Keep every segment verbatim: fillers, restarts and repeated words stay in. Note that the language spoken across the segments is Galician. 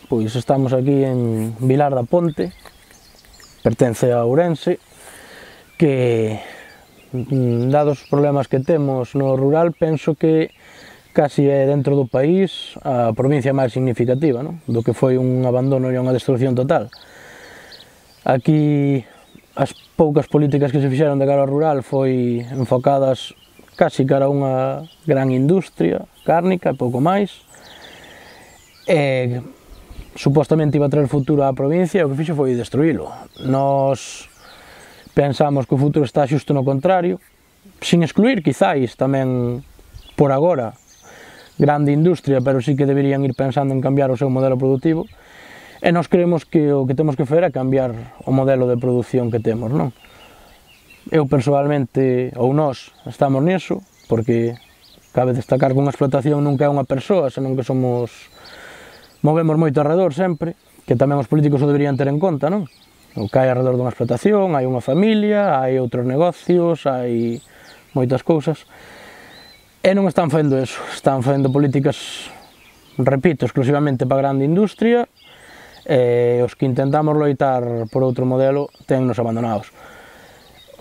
pois estamos aquí en Vilar da Ponte, pertence a Ourense, que, dados os problemas que temos no rural, penso que casi é dentro do país a provincia máis significativa, non? Do que foi un abandono e unha destrucción total. Aquí as poucas políticas que se fixeron de cara ao rural foi enfocadas casi cara a unha gran industria cárnica e pouco máis, e supostamente iba a traer futuro á provincia, e o que fixo foi destruílo. Nós pensamos que o futuro está xusto no contrario, sin excluir quizáis tamén por agora grande industria, pero sí que deberían ir pensando en cambiar o seu modelo productivo, e nós creemos que o que temos que fazer é cambiar o modelo de produción que temos, non? Eu persoalmente, ou nós, estamos niso, porque cabe destacar que unha explotación nunca é unha persoa, senón que somos, movemos moito alrededor sempre, que tamén os políticos o deberían ter en conta, non? O que hai alrededor dunha explotación, hai unha familia, hai outros negocios, hai moitas cousas, e non están facendo eso, están facendo políticas, repito, exclusivamente para a grande industria, e os que intentamos loitar por outro modelo tennos abandonados.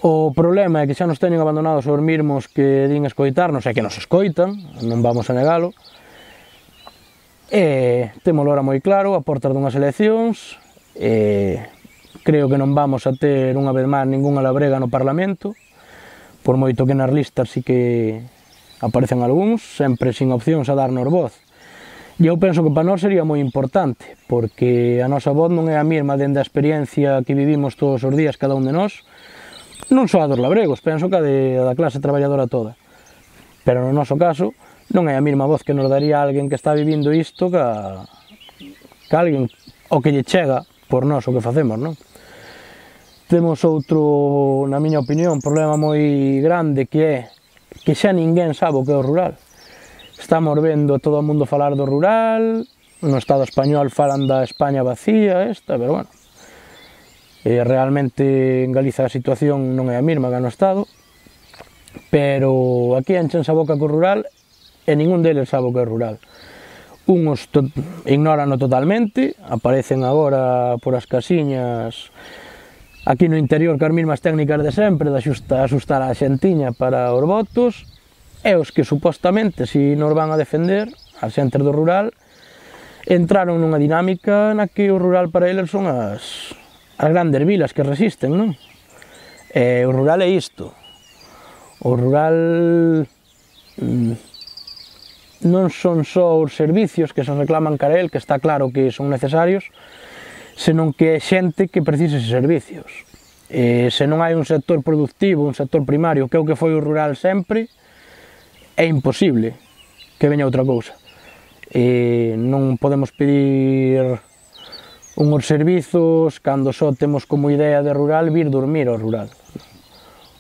O problema é que xa nos teñen abandonados os mesmos que din escoitarnos, e que nos escoitan, non vamos a negalo, e témolo ahora moi claro, a portas dunhas eleccións, e creo que non vamos a ter unha vez máis ningunha labrega no Parlamento, por moito que nas listas sí que aparecen algúns, sempre sin opcións a darnos voz. E eu penso que para nós sería moi importante, porque a nosa voz non é a mesma dende a experiencia que vivimos todos os días cada un de nós, non só a dos labregos, penso que a de, da clase traballadora toda. Pero no noso caso, non é a mesma voz que nos daría alguén que está vivindo isto que, a, que alguén o que lle chega por nós o que facemos, non? Temos outro, na miña opinión, un problema moi grande, que é que xa ninguén sabe o que é o rural. Estamos vendo todo o mundo falar do rural, no Estado español falan da España vacía esta, pero bueno, eh, realmente en Galiza a situación non é a mesma que no Estado, pero aquí enchense a boca co rural e ningún deles sabe o que é rural. Uns to ignoranlo totalmente, aparecen agora por as casiñas aquí no interior que as mesmas técnicas de sempre, de asustar a xentiña para os votos, e os que supostamente, se nos van a defender, as xentes do rural, entraron nunha dinámica na que o rural para eles son as, as grandes vilas que resisten, non? E o rural é isto. O rural mm, non son só os servicios que se reclaman cara a él, que está claro que son necesarios, senón que é xente que precisa eses servicios. E se non hai un sector productivo, un sector primario, que é o que foi o rural sempre, é imposible que veña outra cousa. E non podemos pedir unhos servizos cando só temos como idea de rural vir dormir ao rural.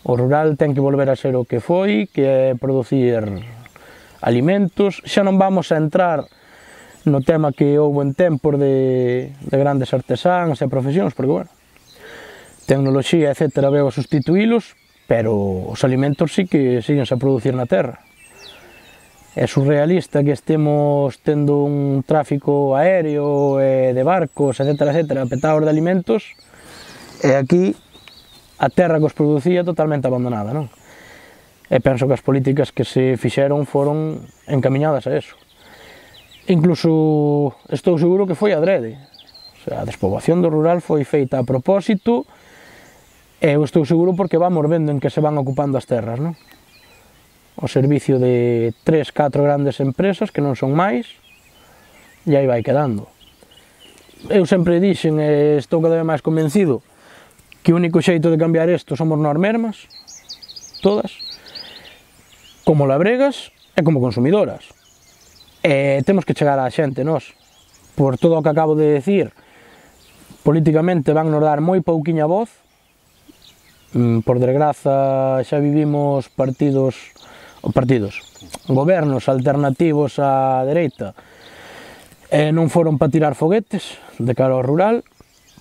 O rural ten que volver a ser o que foi, que é producir alimentos. Xa non vamos a entrar no tema que houve en tempos de, de grandes artesáns e profesións, porque, bueno, tecnoloxía, etcétera, veo a sustituílos, pero os alimentos sí que siguen a producir na terra. É surrealista que estemos tendo un tráfico aéreo e de barcos, etcétera, etcétera, petados de alimentos, e aquí a terra que os producía totalmente abandonada, non? E penso que as políticas que se fixeron foron encamiñadas a eso. Incluso estou seguro que foi adrede. O sea, a despoboación do rural foi feita a propósito, e eu estou seguro porque vamos vendo en que se van ocupando as terras, non? O servicio de tres, catro grandes empresas, que non son máis, e aí vai quedando. Eu sempre dixen, e estou cada vez máis convencido, que o único xeito de cambiar isto somos nós mesmas, todas, como labregas e como consumidoras. E temos que chegar á xente, nós. Por todo o que acabo de decir, políticamente van nos dar moi pouquiña voz. Por desgraza, xa vivimos partidos, ou partidos, gobernos alternativos á dereita, e non foron para tirar foguetes de cara ao rural,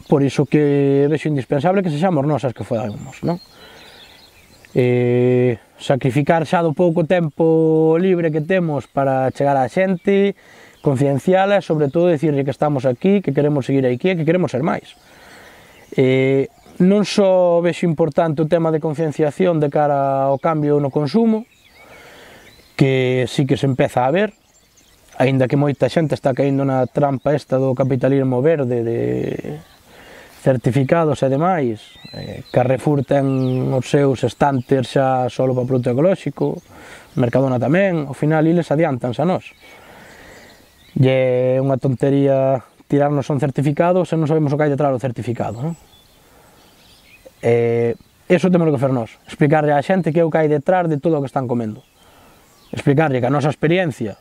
por iso que vexo indispensable que sexamos nós as que fodamos, non? E sacrificar xa do pouco tempo libre que temos para chegar á xente, conciencial e, sobre todo, dicirlle que estamos aquí, que queremos seguir aquí e que queremos ser máis. Eh, non só vexo importante o tema de concienciación de cara ao cambio no consumo, que sí que se empeza a ver, aínda que moita xente está caíndo na trampa esta do capitalismo verde, de certificados e demais. eh, Carrefour ten os seus estantes xa solo para produto ecolóxico, Mercadona tamén, ao final eles adiantanse a nós. E é unha tontería tirarnos un certificado se non sabemos o que hai detrás do certificado, non? Eh, eso temos que fer nós, explicarle á xente que é o que hai detrás de todo o que están comendo. Explicarlle que a nosa experiencia,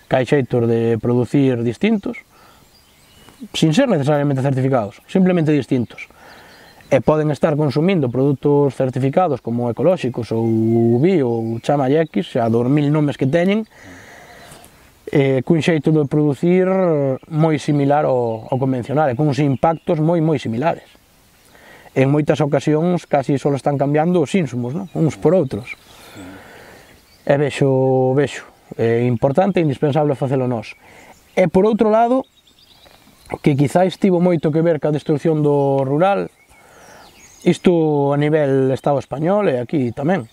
que hai xeitos de producir distintos, sin ser necesariamente certificados, simplemente distintos. E poden estar consumindo produtos certificados como ecolóxicos ou bio ou chamalle X, xa dos mil nomes que teñen, eh, cun xeito de producir moi similar ao, ao convencional, e con uns impactos moi moi similares. En moitas ocasións casi só están cambiando os insumos, non? Uns por outros. E vexo, vexo, é importante e indispensable facelo nós. E por outro lado, que quizáis tivo moito que ver ca destrucción do rural, isto a nivel Estado español e aquí tamén.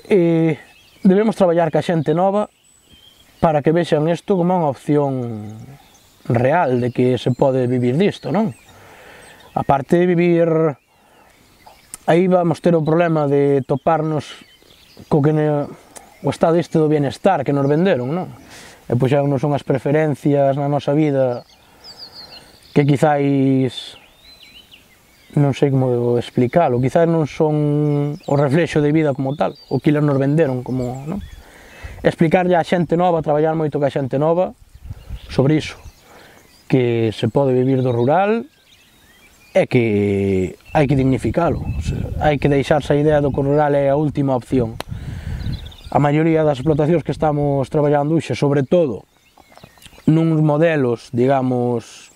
E debemos traballar ca xente nova para que vexan isto como unha opción real de que se pode vivir disto, non? A parte de vivir, aí vamos ter o problema de toparnos co que ne, o estado este do bienestar que nos venderon, non? E puxarnos unhas preferencias na nosa vida que quizáis, non sei como explicalo, quizás non son o reflexo de vida como tal, o que nos venderon como, non? Explicarlle á xente nova, traballar moito ca xente nova sobre iso, que se pode vivir do rural e que hai que dignificalo, o sea, hai que deixarse a idea do que o rural é a última opción. A maioría das explotacións que estamos traballando hoxe, sobre todo nuns modelos, digamos,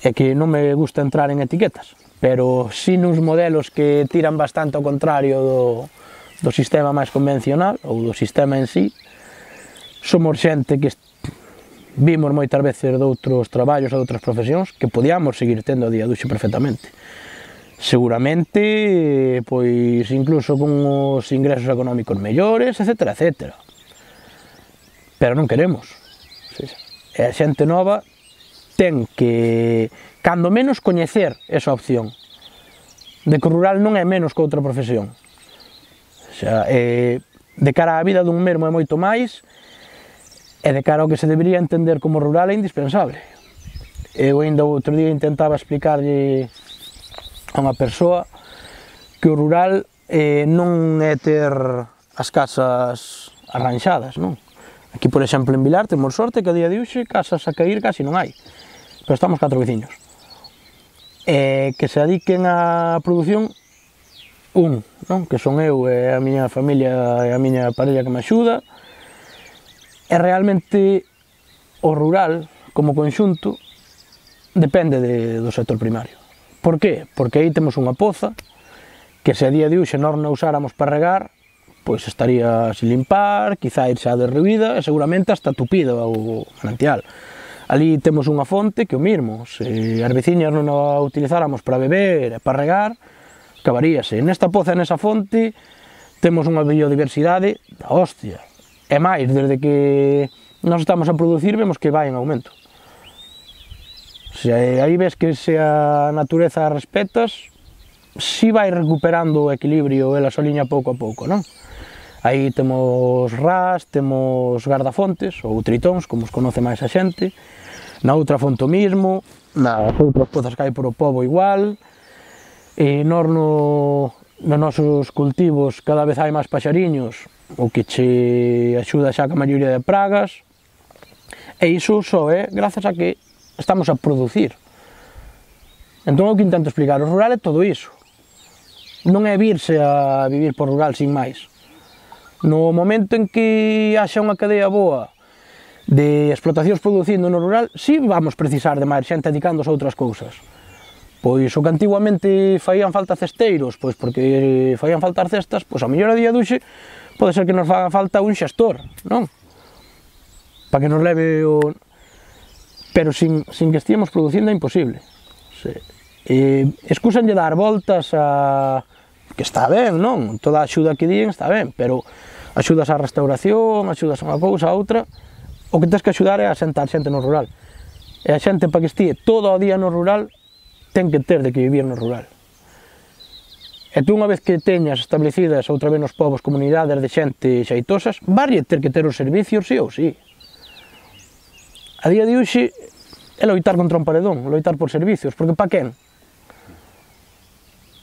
é que non me gusta entrar en etiquetas, pero sí nuns modelos que tiran bastante ao contrario do, do sistema máis convencional, ou do sistema en sí. Somos xente que vimos moitas veces de outros traballos e de outras profesións que podíamos seguir tendo a día de hoxe perfectamente. Seguramente, pois, incluso con os ingresos económicos mellores, etcétera, etcétera. Pero non queremos. E a xente nova ten que, cando menos, coñecer esa opción de que o rural non é menos que outra profesión. O sea, eh, de cara á vida dun mesmo é moito máis, e de cara ao que se debería entender como rural é indispensable. Eu ainda outro día intentaba explicarlle a unha persoa que o rural eh, non é ter as casas arranxadas, non? Aquí, por exemplo, en Vilar temos sorte que a día de hoxe casas a cair casi non hai, pero estamos catro veciños. E que se dediquen á produción un, non? Que son eu e a miña familia e a miña parella que me axuda, e realmente o rural, como conxunto, depende de, do sector primario. Por qué? Porque aí temos unha poza que se a día de hoxe nós non usáramos para regar, pois estaría sin limpar, quizá ir xa derruída e seguramente hasta tupida o manantial. Ali temos unha fonte que o mismo, se as veciñas non a utilizáramos para beber e para regar, acabaríase. Nesta poza e nesa fonte temos unha biodiversidade da hostia. E máis, desde que nós estamos a producir, vemos que vai en aumento. Se aí ves que se a natureza respetas, si vai recuperando o equilibrio ela soliña pouco a pouco, non? Aí temos ras, temos gardafontes, ou tritóns, como os conoce máis a xente, na outra fonte o mismo, nas outras pozas que hai por o pobo igual, e nós no, nos nosos cultivos cada vez hai máis paxariños, o que che axuda xa ca maioría de pragas, e iso só é grazas a que estamos a producir. Entón o que intento explicar, o rural é todo iso, non é virse a vivir por rural sin máis. No momento en que haxa unha cadea boa de explotacións producindo no rural, si vamos precisar de máis xente dedicándose a outras cousas. Pois o que antiguamente faían falta cesteiros, pois porque faían falta cestas, pois a mellor a día de hoxe pode ser que nos faga falta un xestor, non? para que nos leve o... Pero sin, sin que estiemos producindo é imposible. Se, eh, excúsanlle dar voltas a... que está ben, non? Toda a axuda que din está ben, pero axudas á restauración, axudas a unha cousa, a outra, o que tens que axudar é a sentar xente no rural. E a xente, para que estíe todo o día no rural, ten que ter de que vivir no rural. E tú, unha vez que teñas establecidas outra vez nos povos comunidades de xente xeitosas, varlle ter que ter os servicios sí ou sí. A día de hoxe é loitar contra un paredón, loitar por servicios, porque pa quen?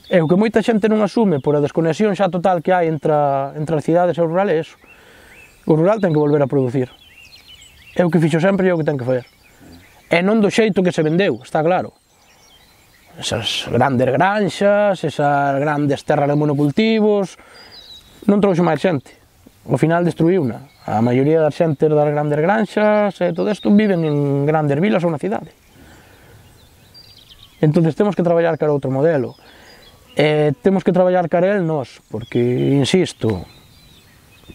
E o que moita xente non asume por a desconexión xa total que hai entre, entre as cidades e o rural é eso. O rural ten que volver a producir. É o que fixo sempre e é o que ten que fazer. E non do xeito que se vendeu, está claro. Esas grandes granxas, esas grandes terras de monocultivos, non trouxe máis xente. Ao final destruíuna. A maioría das xentes das grandes granxas e todo isto viven en grandes vilas ou na cidade. Entón temos que traballar cara a outro modelo. E temos que traballar cara a él nós, porque, insisto,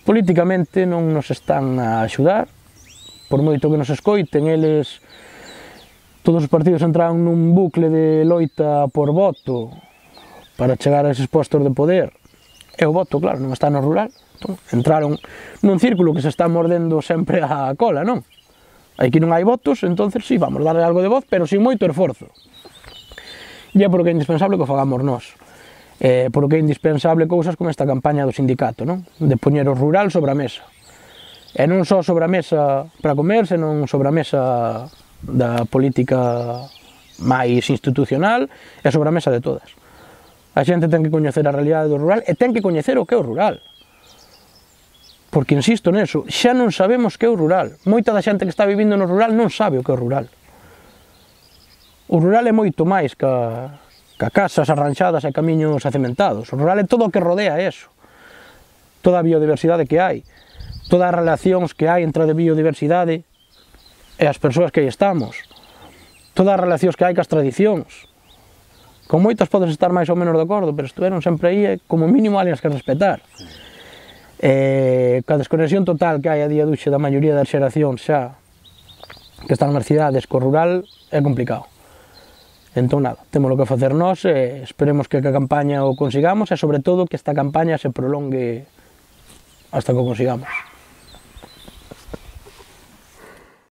políticamente non nos están a axudar, por moito que nos escoiten, eles... Todos os partidos entraron nun bucle de loita por voto para chegar a eses postos de poder. E o voto, claro, non está no rural. Entón, entraron nun círculo que se está mordendo sempre a cola, non? Aquí non hai votos, entonces sí, vamos darle algo de voz, pero sin moito esforzo. E é porque é indispensable que o fagamos nós. Eh, porque é indispensable cousas como esta campaña do sindicato, non? De poñer o rural sobre a mesa. E non só sobre a mesa para comer, senón sobre a mesa da política máis institucional e sobre a mesa de todas. A xente ten que coñecer a realidade do rural e ten que coñecer o que é o rural. Porque insisto neso, xa non sabemos que é o rural. Moita da xente que está vivindo no rural non sabe o que é o rural. O rural é moito máis ca, ca casas arranxadas e camiños acementados. O rural é todo o que rodea eso. Toda a biodiversidade que hai, todas as relacións que hai entre a biodiversidade e as persoas que aí estamos, todas as relacións que hai cas tradicións. Con moitas podes estar máis ou menos de acordo, pero estuveron sempre aí e como mínimo hai as que respetar. E ca desconexión total que hai a día duxe da maioría das xeracións xa que están nas cidades co rural é complicado. Entón nada, temos o que facer nós e esperemos que a campaña o consigamos e sobre todo que esta campaña se prolongue hasta que o consigamos.